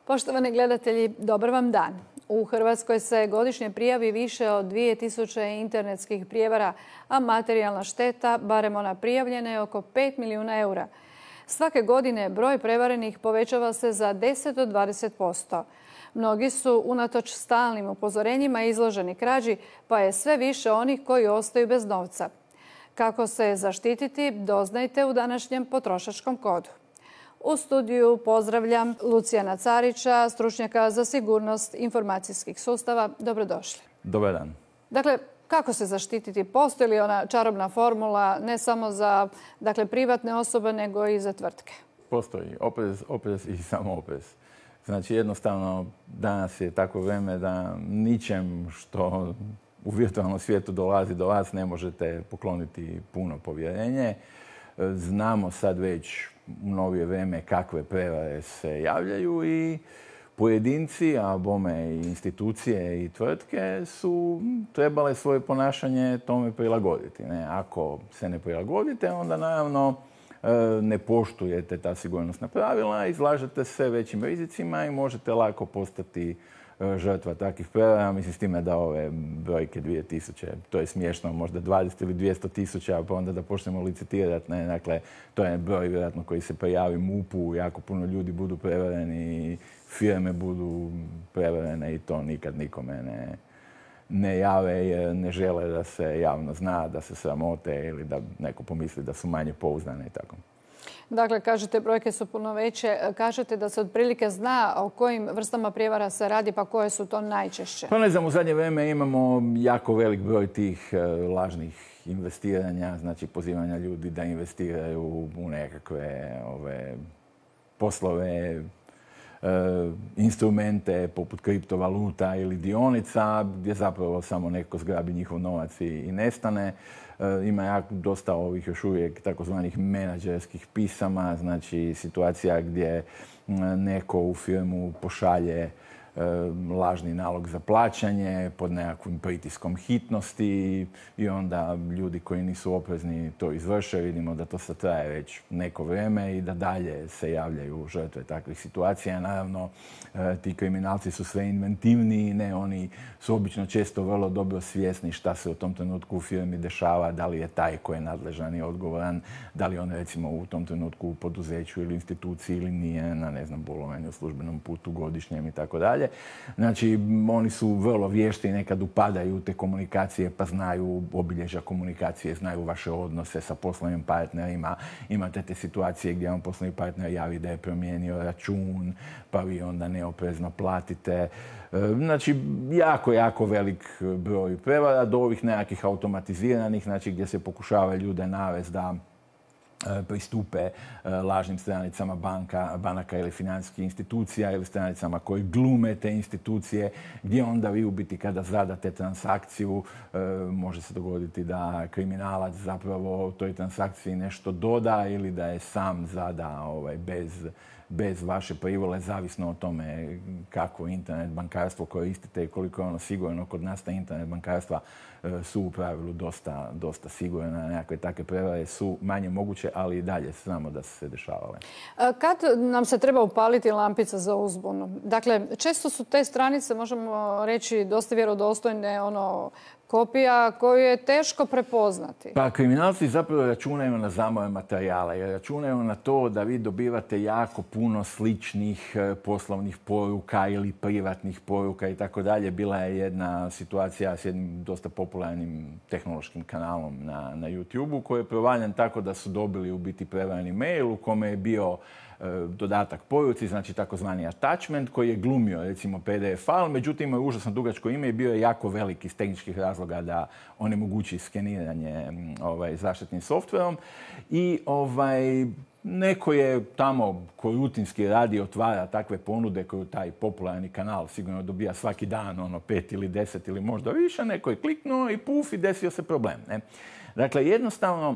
Poštovani gledatelji, dobar vam dan. U Hrvatskoj se godišnje prijavi više od 2000 internetskih prijevara, a materijalna šteta, barem ona prijavljena, je oko 5 milijuna eura. Svake godine broj prevarenih povećava se za 10 do 20%. Mnogi su unatoč stalnim upozorenjima izloženi krađi, pa je sve više onih koji ostaju bez novca. Kako se zaštititi, doznajte u današnjem potrošačkom kodu. U studiju pozdravljam Lucijana Carića, stručnjaka za sigurnost informacijskih sustava. Dobrodošli. Dobar dan. Dakle, kako se zaštititi? Postoji li ona čarobna formula ne samo za privatne osobe, nego i za tvrtke? Postoji. Oprez i samo oprez. Znači, jednostavno, danas je takvo vrijeme da ničem što u virtualnom svijetu dolazi do vas ne možete pokloniti puno povjerenje. Znamo sad već u novije vrijeme kakve prevare se javljaju i pojedinci, a bome i institucije i tvrtke su trebale svoje ponašanje tome prilagoditi. Ako se ne prilagodite, onda naravno ne poštujete ta sigurnosna pravila, izlažete se većim rizicima i možete lako postati žrtva takvih prevara. Mislim s time da ove brojke 2000, to je smiješno, možda 20 ili 200 tisuća, pa onda da počnemo licitirati. Dakle, to je broj vjerojatno koji se prijavi MUP-u, jako puno ljudi budu prevareni, firme budu prevarene i to nikad nikome ne jave jer ne žele da se javno zna, da se sramote ili da neko pomisli da su manje pouzdane i tako. Dakle, kažete brojke su puno veće. Kažete da se otprilike zna o kojim vrstama prijevara se radi, pa koje su to najčešće? Pa ne znam, u zadnje vrijeme imamo jako velik broj tih lažnih investiranja, znači pozivanja ljudi da investiraju u nekakve poslove, instrumente poput kriptovaluta ili dionica gdje zapravo samo neko zgrabi njihov novac i nestane. Ima dosta ovih još uvijek takozvanih menadžerskih pisama, znači situacija gdje neko u firmu pošalje lažni nalog za plaćanje pod nekakvim pritiskom hitnosti i onda ljudi koji nisu oprezni to izvrše. Vidimo da to sad traje već neko vrijeme i da dalje se javljaju žrtve takvih situacija. Naravno, ti kriminalci su sve inventivniji, oni su obično često vrlo dobro svjesni šta se u tom trenutku u firmi dešava, da li je taj koji je nadležan i odgovoran, da li on recimo u tom trenutku u poduzeću ili instituciji ili nije na, bolovanju, službenom putu, godišnjem i tako dalje. Znači, oni su vrlo vješti i nekad upadaju u te komunikacije, pa znaju obilježja komunikacije, znaju vaše odnose sa poslovnim partnerima. Imate te situacije gdje vam poslovni partner javi da je promijenio račun, pa vi onda neoprezno platite. Znači, jako velik broj prevara do ovih nekakvih automatiziranih, znači gdje se pokušava ljude navesti da pristupe lažnim stranicama banaka ili financijskih institucija ili stranicama koji glume te institucije, gdje onda vi u biti kada zadate transakciju može se dogoditi da kriminalac zapravo toj transakciji nešto doda ili da je sam zada bez vaše privole, zavisno o tome kako internet bankarstvo koristite i koliko je ono sigurno. Kod nas ta internet bankarstva su u pravilu dosta sigurna. Nekakve takve prevare su manje moguće, ali i dalje znamo da su se dešavale. Kad nam se treba upaliti lampica za uzbunu? Dakle, često su te stranice, možemo reći, dosta vjerodostojne, kopija koju je teško prepoznati. Pa kriminalci zapravo računaju na zamor materijala jer računaju na to da vi dobivate jako puno sličnih poslovnih poruka ili privatnih poruka i tako dalje. Bila je jedna situacija s jednim dosta popularnim tehnološkim kanalom na YouTube-u koji je provaljen tako da su dobili u biti prevareni mail u kome je bio dodatak poruci, znači takozvani attachment koji je glumio recimo PDF file, međutim imao je užasno dugačko ime i bio je jako velik iz tehničkih razloga da onemogući skeniranje zaštitnim softverom i neko je tamo koji rutinski radi otvara takve ponude koju taj popularni kanal sigurno dobija svaki dan, 5 ili 10 ili možda više, neko je kliknuo i puf i desio se problem. Dakle, jednostavno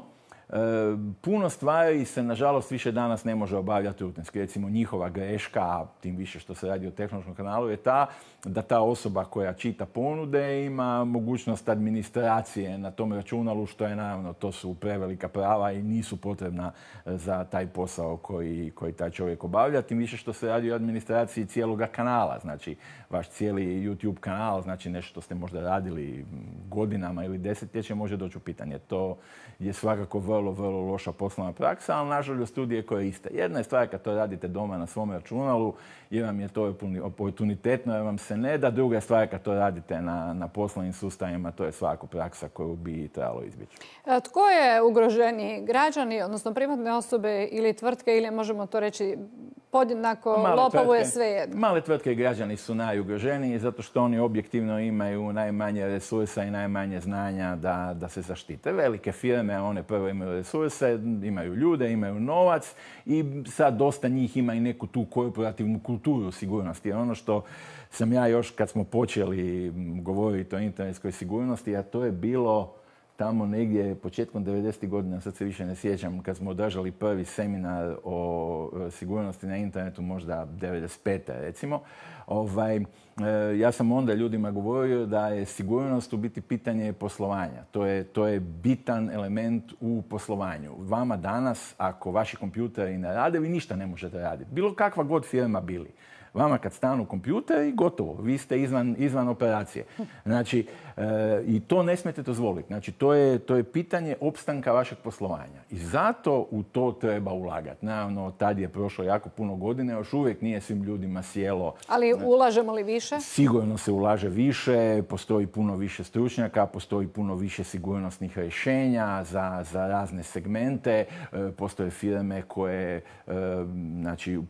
puno stvari se, nažalost, više danas ne može obavljati rutinski. Recimo, njihova greška, a tim više što se radi o tehnološkom kanalu, je ta da ta osoba koja čita ponude ima mogućnost administracije na tom računalu, što je naravno, to su prevelika prava i nisu potrebna za taj posao koji taj čovjek obavlja. Tim više što se radi o administraciji cijeloga kanala. Znači, vaš cijeli YouTube kanal, znači nešto što ste možda radili godinama ili desetljeće, može doći u pitanje. To je svakako vrlo, vrlo loša poslovna praksa, ali nažalost studije koriste. Jedna je stvar kad to radite doma na svom računalu, jer vam je to oportunitetno, jer vam se ne da. Druga je stvar kad to radite na poslovnim sustavima, to je svakako praksa koju bi trebalo izbjeći. Tko je ugroženiji? Građani, odnosno privatne osobe ili tvrtke, ili možemo to reći podjednako lopovu je svejedno? Male tvrtke i građani su najugroženiji zato što oni objektivno imaju najmanje resursa i najmanje znanja da se zaštite. Velike firme, one prvo imaju resurse, imaju ljude, imaju novac i sad dosta njih ima i neku tu korporativnu kulturu sigurnosti. Ono što sam ja još kad smo počeli govoriti o internetskoj sigurnosti, a to je bilo tamo negdje početkom 90. godina, sad se više ne sjećam, kad smo održali prvi seminar o sigurnosti na internetu, možda 95. recimo, ja sam onda ljudima govorio da je sigurnost u biti pitanje poslovanja. To je bitan element u poslovanju. Vama danas, ako vaši kompjuteri ne rade, vi ništa ne možete raditi. Bilo kakva god firma bili. Vama kad stanu kompjuteri, gotovo. Vi ste izvan operacije. Znači, i to ne smijete dozvoliti. Znači, to je pitanje opstanka vašeg poslovanja. I zato u to treba ulagati. Naravno, tad je prošlo jako puno godine, još uvijek nije svim ljudima sjelo. Ali ulažemo li više? Sigurno se ulaže više, postoji puno više stručnjaka, postoji puno više sigurnosnih rješenja za razne segmente. Postoje firme koje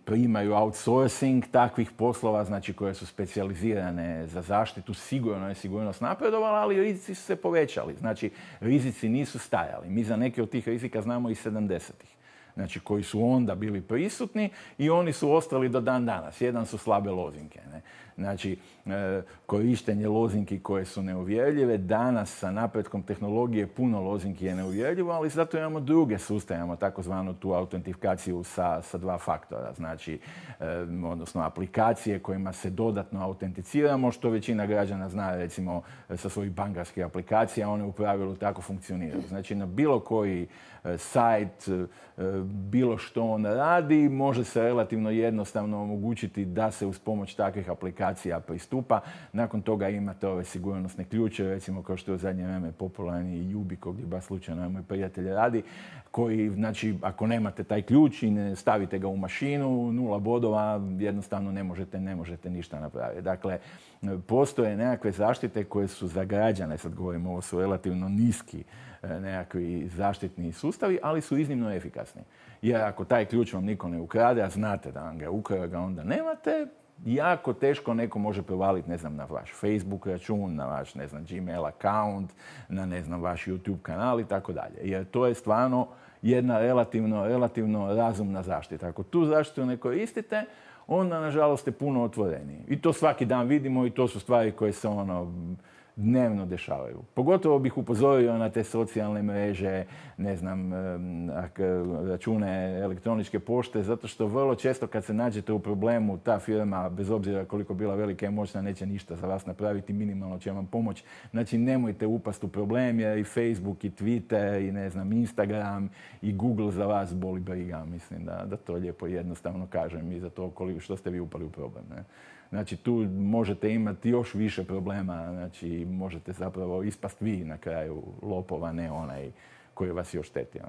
primaju outsourcing takvih poslova, znači koje su specijalizirane za zaštitu. Sigurno je sigurnost napredovala, ali rizici su se povećali. Znači, rizici nisu stajali. Mi za neke od tih rizika znamo i 70-ih. Znači, koji su onda bili prisutni i oni su ostali do dan danas. Jedan su slabe lozinke. Ne? Znači, korištenje lozinki koje su neuvjerljive. Danas sa napretkom tehnologije puno lozinki je neuvjerljivo, ali zato imamo druge sustave. Imamo takozvanu tu autentifikaciju sa dva faktora. Znači, odnosno aplikacije kojima se dodatno autenticiramo, što većina građana zna, recimo, sa svojih bankarskih aplikacija. One u pravilu tako funkcioniraju. Znači, na bilo koji sajt, bilo što on radi, može se relativno jednostavno omogućiti da se uz pomoć takvih aplikacija pristupa. Nakon toga imate ove sigurnosne ključe, recimo kao što je u zadnje vrijeme popularni Yubico, gdje baš slučajno moj prijatelj radi, koji, znači, ako nemate taj ključ i ne stavite ga u mašinu, 0 bodova, jednostavno ne možete ništa napraviti. Dakle, postoje nekakve zaštite koje su za građane, sad govorimo, ovo su relativno niski nekakvi zaštitni sustavi, ali su iznimno efikasni. Jer ako taj ključ vam niko ne ukrade, a znate da vam ga ukrade, ga onda nemate, jako teško neko može provaliti, ne znam, na vaš Facebook račun, na vaš, ne znam, Gmail account, na, ne znam, vaš YouTube kanal i tako dalje. Jer to je stvarno jedna relativno razumna zaštita. Ako tu zaštitu ne koristite, onda, nažalost, je puno otvoreniji. I to svaki dan vidimo i to su stvari koje se dnevno dešavaju. Pogotovo bih upozorio na te socijalne mreže, ne znam, račune elektroničke pošte, zato što vrlo često kad se nađete u problemu, ta firma, bez obzira koliko bila velika i moćna, neće ništa za vas napraviti, minimalno će vam pomoći. Znači, nemojte upasti u problem, jer i Facebook, i Twitter, i ne znam, Instagram, i Google za vas boli briga. Mislim da to lijepo i jednostavno kažem i za to što ste vi upali u problem. Ne? Znači, tu možete imati još više problema, znači, možete zapravo ispast vi na kraju lopova, ne onaj koji vas još šteti.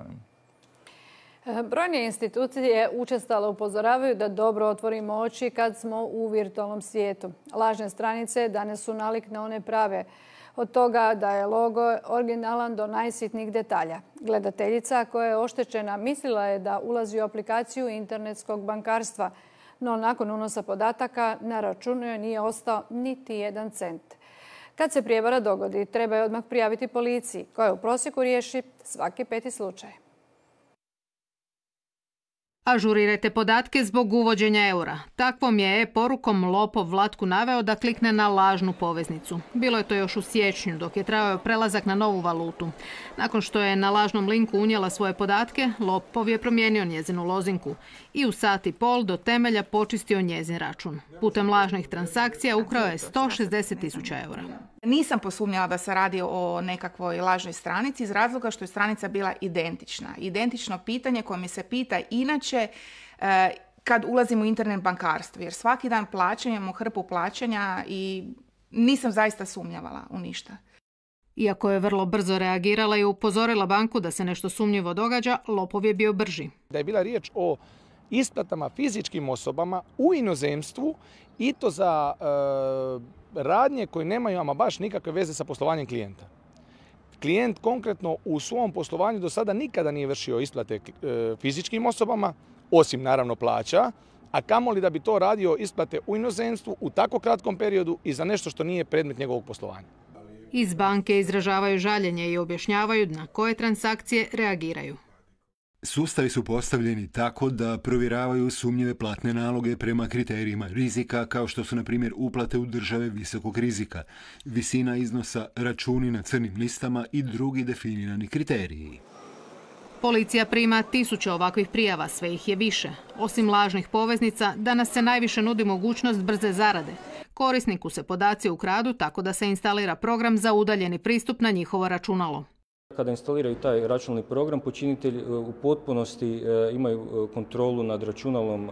Brojne institucije učestalo upozoravaju da dobro otvorimo oči kad smo u virtualnom svijetu. Lažne stranice danas su nalik na one prave. Od toga da je logo originalan do najsitnijih detalja. Gledateljica koja je oštećena mislila je da ulazi u aplikaciju internetskog bankarstva, no nakon unosa podataka na računu joj nije ostao niti 1 cent. Kad se prijevara dogodi, treba je odmah prijaviti policiji, koja u prosjeku riješi svaki 5. slučaj. Ažurirajte podatke zbog uvođenja eura. Takvom je porukom lopov Vlatku naveo da klikne na lažnu poveznicu. Bilo je to još u siječnju dok je trajao prelazak na novu valutu. Nakon što je na lažnom linku unijela svoje podatke, lopov je promijenio njezinu lozinku i u sat i pol do temelja počistio njezin račun. Putem lažnih transakcija ukrao je 160.000 eura. Nisam posumnjala da se radi o nekakvoj lažnoj stranici iz razloga što je stranica bila identična. Identično pitanje koje mi se pita inače kad ulazim u internet bankarstvo. Jer svaki dan plaćam, imamo hrpu plaćanja i nisam zaista sumnjavala u ništa. Iako je vrlo brzo reagirala i upozorila banku da se nešto sumnjivo događa, lopov je bio brži. Da je bila riječ o isplatama fizičkim osobama u inozemstvu i to za radnje koje nemaju ama baš nikakve veze sa poslovanjem klijenta. Klijent konkretno u svom poslovanju do sada nikada nije vršio isplate fizičkim osobama, osim naravno plaća, a kamoli da bi to radio isplate u inozemstvu u tako kratkom periodu i za nešto što nije predmet njegovog poslovanja. Iz banke izražavaju žaljenje i objašnjavaju na koje transakcije reagiraju. Sustavi su postavljeni tako da provjeravaju sumnjive platne naloge prema kriterijima rizika, kao što su, na primjer, uplate u države visokog rizika, visina iznosa, računi na crnim listama i drugi definirani kriteriji. Policija prima 1000 ovakvih prijava, sve ih je više. Osim lažnih poveznica, danas se najviše nudi mogućnost brze zarade. Korisniku se podaci ukradu tako da se instalira program za udaljeni pristup na njihovo računalo. Kada instaliraju taj računalni program, počinitelj u potpunosti imaju kontrolu nad računalom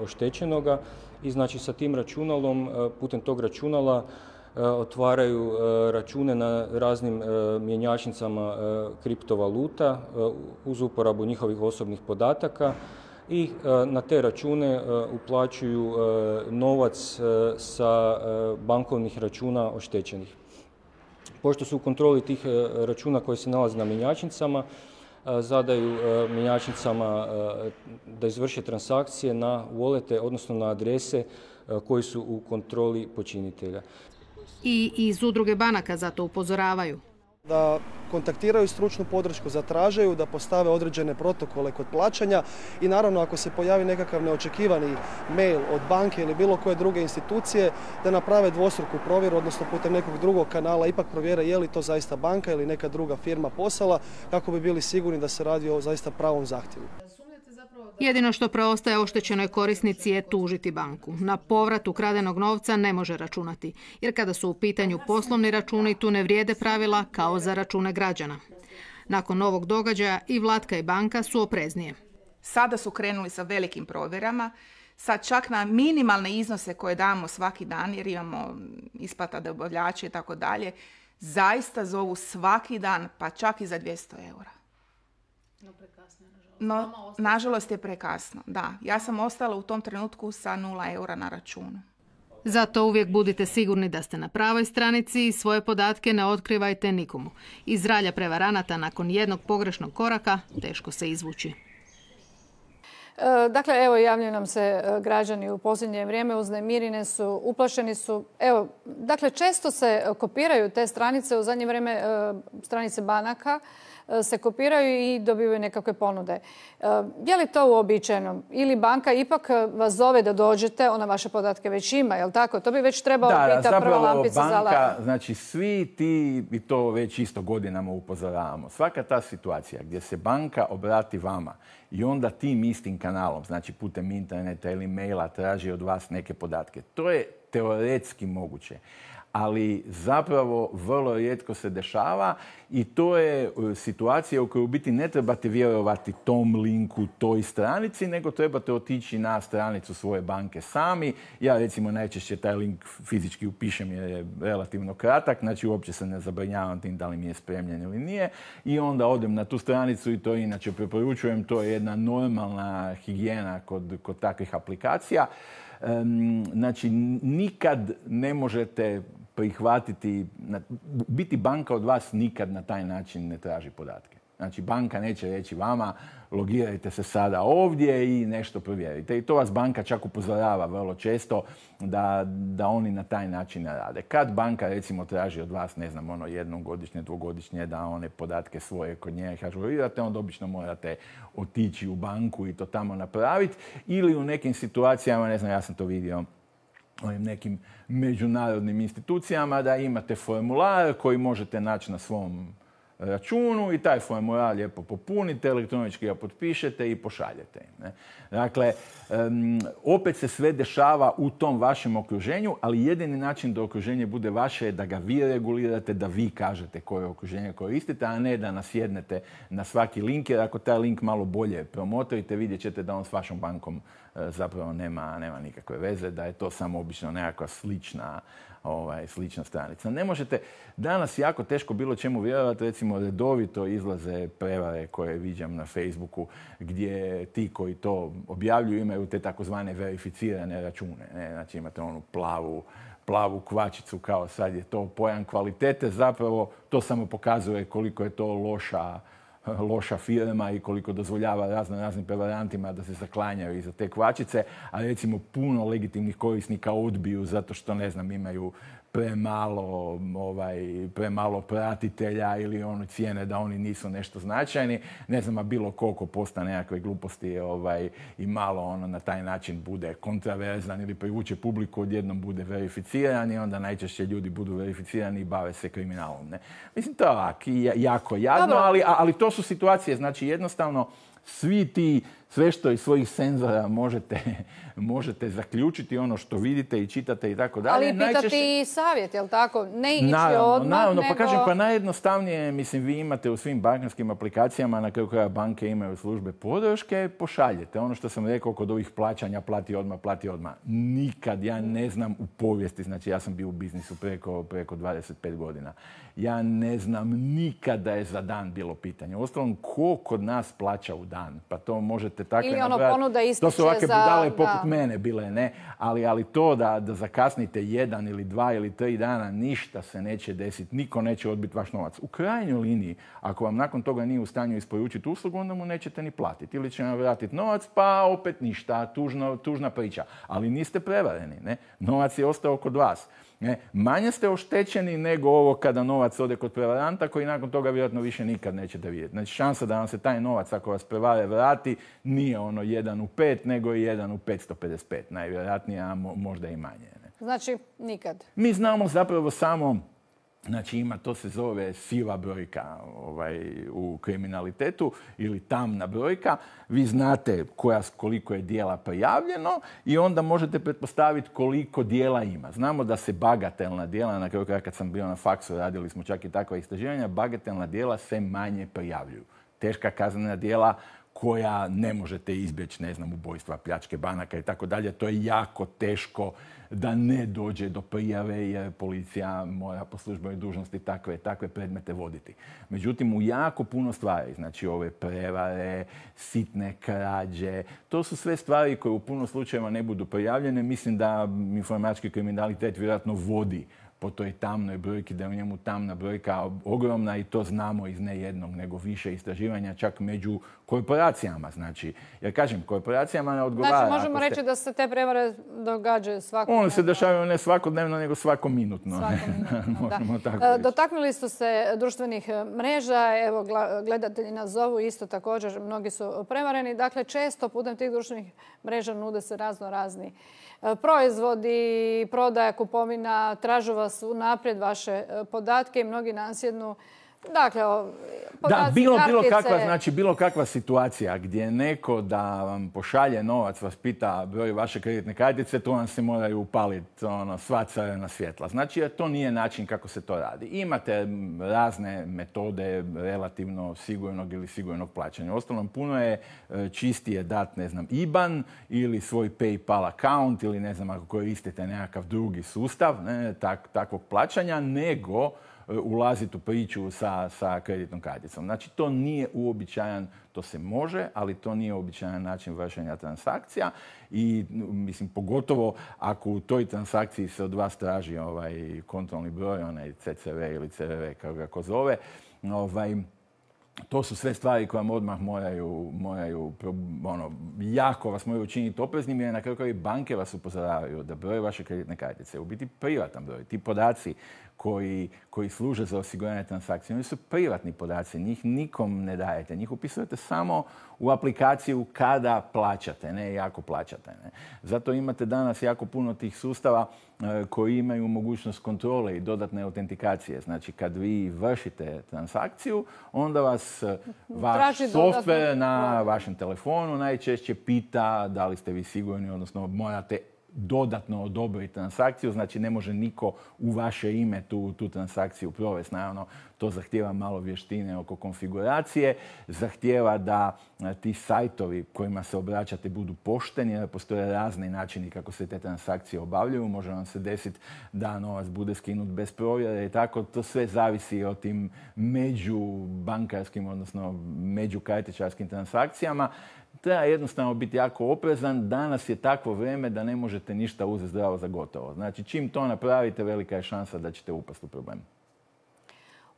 oštećenoga i znači sa tim računalom, putem tog računala otvaraju račune na raznim mjenjačnicama kriptovaluta uz uporabu njihovih osobnih podataka i na te račune uplaćuju novac sa bankovnih računa oštećenih. Pošto su u kontroli tih računa koji se nalaze na mjenjačnicama, zadaju mjenjačnicama da izvrše transakcije na wallete, odnosno na adrese koji su u kontroli počinitelja. I iz udruge banaka zato upozoravaju. Da kontaktiraju stručnu podršku, zatražaju da postave određene protokole kod plaćanja i naravno ako se pojavi nekakav neočekivani mail od banke ili bilo koje druge institucije da naprave dvostruku provjeru, odnosno putem nekog drugog kanala ipak provjere je li to zaista banka ili neka druga firma poslala kako bi bili sigurni da se radi o zaista pravom zahtjevu. Jedino što preostaje oštećenoj korisnici je tužiti banku. Na povrat ukradenog novca ne može računati, jer kada su u pitanju poslovni računi, tu ne vrijede pravila kao za račune građana. Nakon ovog događaja i Vlatka i banka su opreznije. Sada su krenuli sa velikim provjerama, sad čak na minimalne iznose koje damo svaki dan, jer imamo isplata dobavljača i tako dalje, zaista zovu svaki dan, pa čak i za 200 eura. No, nažalost je prekasno, da. Ja sam ostala u tom trenutku sa 0 eura na računu. Zato uvijek budite sigurni da ste na pravoj stranici i svoje podatke ne otkrivajte nikomu. Iz ralja prevaranata nakon jednog pogrešnog koraka teško se izvući. Dakle, evo javljaju nam se građani u posljednje vrijeme, uznemireni su, uplašeni su. Evo, dakle, često se kopiraju te stranice, u zadnje vrijeme stranice banaka se kopiraju i dobivaju nekakve ponude. Je li to uobičajeno? Ili banka ipak vas zove da dođete, ona vaše podatke već ima, je li tako? To bi već trebalo biti ta prva lampica za alarm. Banka, znači svi ti, i to već isto godinama upozoravamo, svaka ta situacija gdje se banka obrati vama i onda tim istim kanalom, znači putem interneta ili maila traži od vas neke podatke, to je teoretski moguće. Ali zapravo vrlo rijetko se dešava i to je situacija u kojoj u biti ne trebate vjerovati tom linku, toj stranici, nego trebate otići na stranicu svoje banke sami. Ja recimo najčešće taj link fizički upišem jer je relativno kratak, znači uopće se ne zabrinjavam tim da li mi je spremljen ili nije i onda odem na tu stranicu i to inače preporučujem, to je jedna normalna higijena kod takvih aplikacija. Znači, nikad ne možete prihvatiti, biti banka od vas nikad na taj način ne traži podatke. Znači, banka neće reći vama, logirajte se sada ovdje i nešto provjerite. I to vas banka čak upozorava vrlo često da oni na taj način ne rade. Kad banka, recimo, traži od vas, ne znam, jednom godišnje, dvogodišnje, da one podatke svoje kod nje ažurirate, onda obično morate otići u banku i to tamo napraviti. Ili u nekim situacijama, ne znam, ja sam to vidio ovim nekim međunarodnim institucijama, da imate formular koji možete naći na svom računu i taj formular lijepo popunite, elektronički ga potpišete i pošaljete im. Ne? Dakle, opet se sve dešava u tom vašem okruženju, ali jedini način da okruženje bude vaše je da ga vi regulirate, da vi kažete koje okruženje koristite, a ne da nasjednete na svaki link, jer ako taj link malo bolje promotrite, vidjet ćete da on s vašom bankom zapravo nema nikakve veze, da je to samo obično nekakva slična stranica. Ne možete, danas jako teško bilo čemu vjerovati, recimo redovito izlaze prevare koje viđam na Facebooku gdje ti koji to objavljuju imaju te takozvane verificirane račune. Ne? Znači imate onu plavu kvačicu kao sad je to pojam kvalitete, zapravo to samo pokazuje koliko je to loša firma i koliko dozvoljava raznim prevarantima da se zaklanjaju iza te kvačice, a recimo puno legitimnih korisnika odbiju zato što, ne znam, imaju premalo pratitelja ili cijene da oni nisu nešto značajni. Ne znam, a bilo koliko posta nekakve gluposti i malo na taj način bude kontraverzan ili privuče publiku, odjednom bude verificiran i onda najčešće ljudi budu verificirani i bave se kriminalom. Ne? Mislim, to je jako jadno, ali to su situacije. Znači, jednostavno, sve što iz svojih senzora možete zaključiti, ono što vidite i čitate i tako dalje. Ali pitati i savjet, jel tako? Ne ići odmah, naravno, pa kažem, pa najjednostavnije, mislim, vi imate u svim bankarskim aplikacijama, na kraju kraja banke imaju službe podrške, pošaljete. Ono što sam rekao kod ovih plaćanja, plati odmah. Nikad, ja ne znam u povijesti, znači ja sam bio u biznisu preko 25 godina. Ja ne znam nikad da je za dan bilo pitanje. Uostalom, ko kod nas plaća u dan? Pa to možete tako napraviti. Ponuda ističe to su ovakve budale poput mene bile, ne? Ali to da zakasnite 1 ili 2 ili 3 dana, ništa se neće desiti. Niko neće odbiti vaš novac. U krajnjoj liniji, ako vam nakon toga nije u stanju isporučiti uslugu, onda mu nećete ni platiti. Ili će vam vratiti novac, pa opet ništa. Tužna priča. Ali niste prevareni, ne? Novac je ostao kod vas. Ne? Manje ste oštećeni nego ovo kada novac ode kod prevaranta koji nakon toga vjerojatno više nikad nećete vidjeti. Znači, šansa da vam se taj novac, ako vas prevare, vrati, nije 1 u 5, nego je 1 u 555. Najvjerojatnije, a možda i manje. Ne? Znači, nikad. Mi znamo zapravo samo, znači to se zove siva brojka u kriminalitetu ili tamna brojka. Vi znate koliko je djela prijavljeno i onda možete pretpostaviti koliko djela ima. Znamo da se bagatelna djela, na kraju kraja kad sam bio na faksu, radili smo čak i takva istraživanja, bagatelna djela se manje prijavljuju. Teška kaznena djela koja ne možete izbjeći, ne znam, ubojstva, pljačke banaka i tako dalje. To je jako teško da ne dođe do prijave jer policija mora po službenoj dužnosti takve predmete voditi. Međutim, u jako puno stvari, znači ove prevare, sitne krađe, to su sve stvari koje u puno slučajeva ne budu prijavljene. Mislim da informatički kriminalitet vjerojatno vodi po toj tamnoj brojki, da je u njemu tamna brojka ogromna i to znamo iz ne jednog, nego više istraživanja čak među korporacijama. Znači, jer kažem, korporacijama ne odgovara. Znači, možemo reći da se te prevare događaju svakodnevno. One se dešavaju ne svakodnevno, nego svakominutno. Možemo tako reći. Dotaknuli ste se društvenih mreža. Evo, gledatelji nas zovu isto također. Mnogi su prevareni. Dakle, često putem tih društvenih mreža nude se razni proizvodi, prodaja, kupovina, tražu vas unaprijed vaše podatke i mnogi nasjednu. Dakle, podaci, kartice. Bilo kakva situacija gdje neko da vam pošalje novac, vas pita broj vaše kreditne kartice, to vam se moraju upaliti sva crvena svjetla. Znači, to nije način kako se to radi. Imate razne metode relativno sigurnog ili sigurnog plaćanja. Uostalom, puno je čistije dati, ne znam, IBAN ili svoj PayPal account ili ne znam, ako koristite nekakav drugi sustav takvog plaćanja, nego ulaziti u priču sa kreditnom karticom. Znači, to nije uobičajan, to se može, ali to nije uobičajan način vršenja transakcija i, mislim, pogotovo ako u toj transakciji se od vas traži kontrolni broj, onaj CCV ili CVV, kako ga ko zove, to su sve stvari koje vam odmah moraju jako vas moraju učiniti opreznim, jer na kraju krajeva banke vas upozoravaju da broj vaše kreditne kartice u biti privatan broj. Ti podaci koji služe za osiguranje transakcije, oni su privatni podaci, njih nikom ne dajete, njih upisujete samo u aplikaciju kada plaćate, ne jako plaćate. Ne. Zato imate danas jako puno tih sustava koji imaju mogućnost kontrole i dodatne autentikacije. Znači, kad vi vršite transakciju, onda vas vaš softver na vašem telefonu najčešće pita da li ste vi sigurni, odnosno morate dodatno odobriti transakciju, znači ne može niko u vaše ime tu transakciju provesti. Naravno, to zahtijeva malo vještine oko konfiguracije, zahtijeva da ti sajtovi kojima se obraćate budu pošteni, jer postoje razni načini kako se te transakcije obavljaju. Može vam se desiti da novac bude skinut bez provjere i tako. To sve zavisi o tim međubankarskim, odnosno međukartičarskim transakcijama. Treba jednostavno biti jako oprezan. Danas je takvo vrijeme da ne možete ništa uzeti zdravo za gotovo. Znači, čim to napravite, velika je šansa da ćete upasti u problem.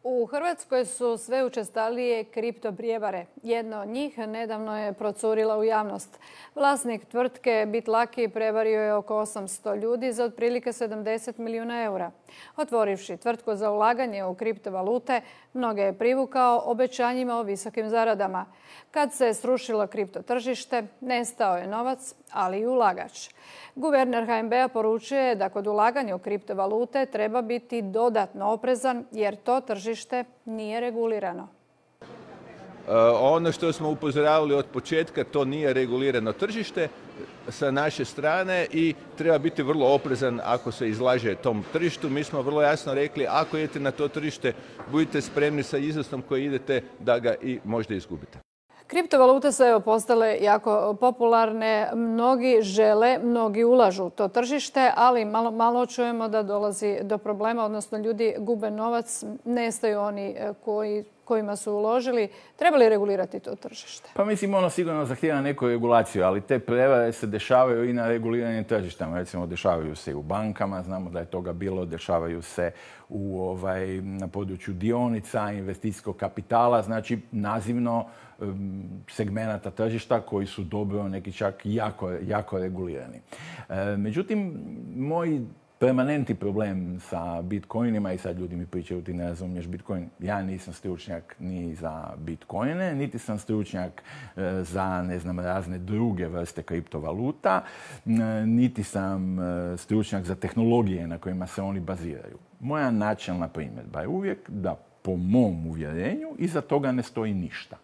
U Hrvatskoj su sve učestalije kripto prijevare. Jedna od njih nedavno je procurila u javnost. Vlasnik tvrtke BitLucky prevario je oko 800 ljudi za otprilike 70 milijuna eura. Otvorivši tvrtku za ulaganje u kriptovalute, mnoge je privukao obećanjima o visokim zaradama. Kad se srušilo kripto tržište, nestao je novac, ali i ulagač. Guverner HNB-a poručuje da kod ulaganja u kriptovalute treba biti dodatno oprezan jer to tržište nije regulirano. Ono što smo upozoravali od početka, to nije regulirano tržište sa naše strane i treba biti vrlo oprezan ako se izlaže tom tržištu. Mi smo vrlo jasno rekli, ako idete na to tržište, budite spremni sa iznosom koji idete da ga i možda izgubite. Kriptovalute su postale jako popularne, mnogi žele, mnogi ulažu u to tržište, ali malo čujemo da dolazi do problema, odnosno ljudi gube novac, nestaju oni kojima su uložili. Treba li regulirati to tržište? Pa mislim, ono sigurno zahtijeva neku regulaciju, ali te prevare se dešavaju i na reguliranim tržištama. Recimo, dešavaju se i u bankama, znamo da je toga bilo, dešavaju se na području dionica, investicijskog kapitala, znači nazivno segmenata tržišta koji su dobro, neki čak jako regulirani. Međutim, moj permanentni problem sa bitcoinima, i sad ljudi mi pričaju ti ne razumiješ bitcoin, ja nisam stručnjak ni za bitcoine, niti sam stručnjak za, razne druge vrste kriptovaluta, niti sam stručnjak za tehnologije na kojima se oni baziraju. Moja načelna primjedba je uvijek da, po mom uvjerenju, iza toga ne stoji ništa.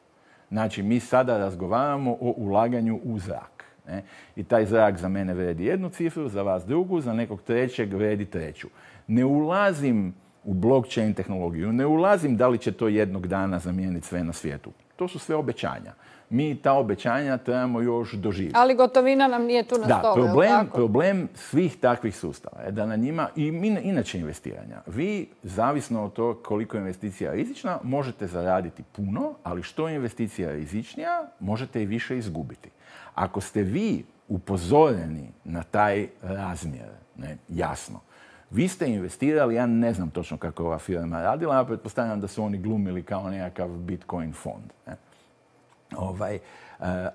Znači, mi sada razgovaramo o ulaganju u zrak. Ne? I taj zrak za mene vredi jednu cifru, za vas drugu, za nekog trećeg vredi treću. Ne ulazim u blockchain tehnologiju, ne ulazim da li će to jednog dana zamijeniti sve na svijetu. To su sve obećanja. Mi ta obećanja trebamo još doživjeti. Ali gotovina nam nije tu na stolu. Problem svih takvih sustava je da na njima, i inače investiranja, vi, zavisno od toga koliko je investicija rizična, možete zaraditi puno, ali što je investicija rizičnija, možete i više izgubiti. Ako ste vi upozoreni na taj razmjer, jasno, vi ste investirali, ja ne znam točno kako ova firma radila, ja pretpostavljam da su oni glumili kao nekakav Bitcoin fond.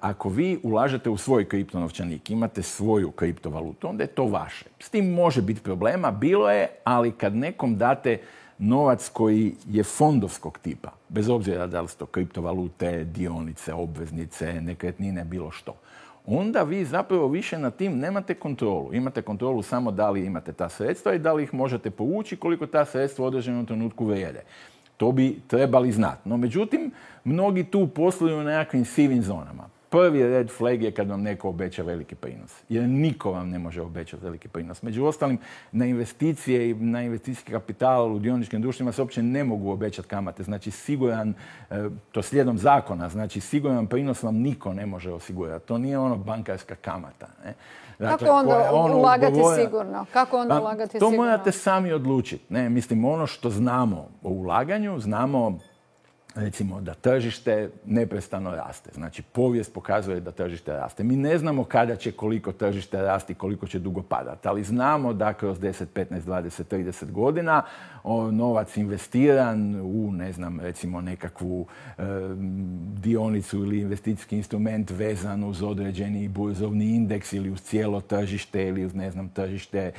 Ako vi ulažete u svoj kriptonovčanik, imate svoju kriptovalutu, onda je to vaše. S tim može biti problema, bilo je, ali kad nekom date novac koji je fondovskog tipa, bez obzira da li su to kriptovalute, dionice, obveznice, nekretnine, bilo što, onda vi zapravo više nad tim nemate kontrolu. Imate kontrolu samo da li imate ta sredstva i da li ih možete povući, koliko ta sredstva u određenom trenutku vrijede. To bi trebali znati. No, međutim, mnogi tu posluju u nekakvim sivim zonama. Prvi red flag je kad vam neko obeća veliki prinos. Jer niko vam ne može obećati veliki prinos. Među ostalim, na investicije i na investicijski kapital u dioničkim društvima se uopće ne mogu obećati kamate. Znači, siguran, to slijedom zakona, znači siguran prinos vam niko ne može osigurati. To nije ono bankarska kamata. Ne? Dakle, kako onda ulagati sigurno? To morate sami odlučiti. Mislim, ono što znamo o ulaganju, znamo recimo da tržište neprestano raste. Znači, povijest pokazuje da tržište raste. Mi ne znamo kada će koliko tržište rasti, koliko će dugo padati, ali znamo da kroz 10, 15, 20, 30 godina novac investiran u, ne znam, recimo nekakvu dionicu ili investicijski instrument vezan uz određeni burzovni indeks ili uz cijelo tržište ili uz, ne znam, tržište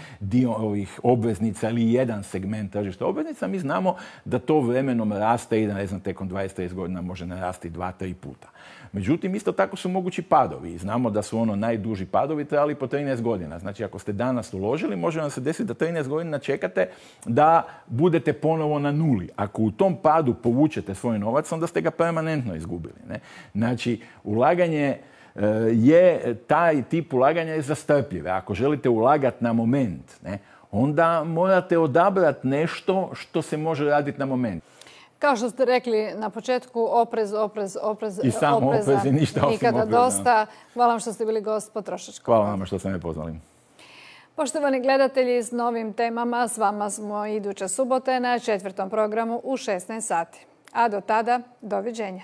ovih obveznica ili jedan segment tržišta obveznica, mi znamo da to vremenom raste i da, ne znam, tekom 20-30 godina može narasti 2-3 puta. Međutim, isto tako su mogući padovi. Znamo da su najduži padovi trajali po 13 godina. Znači, ako ste danas uložili, može vam se desiti da 13 godina čekate da budete ponovo na nuli. Ako u tom padu povučete svoj novac, onda ste ga permanentno izgubili. Ne? Znači, ulaganje taj tip ulaganja je za strpljive. Ako želite ulagati na moment, ne, onda morate odabrati nešto što se može raditi na moment. Kao što ste rekli na početku, oprez. I samo oprez i ništa osim nikada opreza. Dosta. Hvala vam što ste bili gost Potrošačkog. Hvala vam što ste me pozvali. Poštovani gledatelji, s novim temama s vama smo iduće subote na 4. programu u 16 sati. A do tada, doviđenja.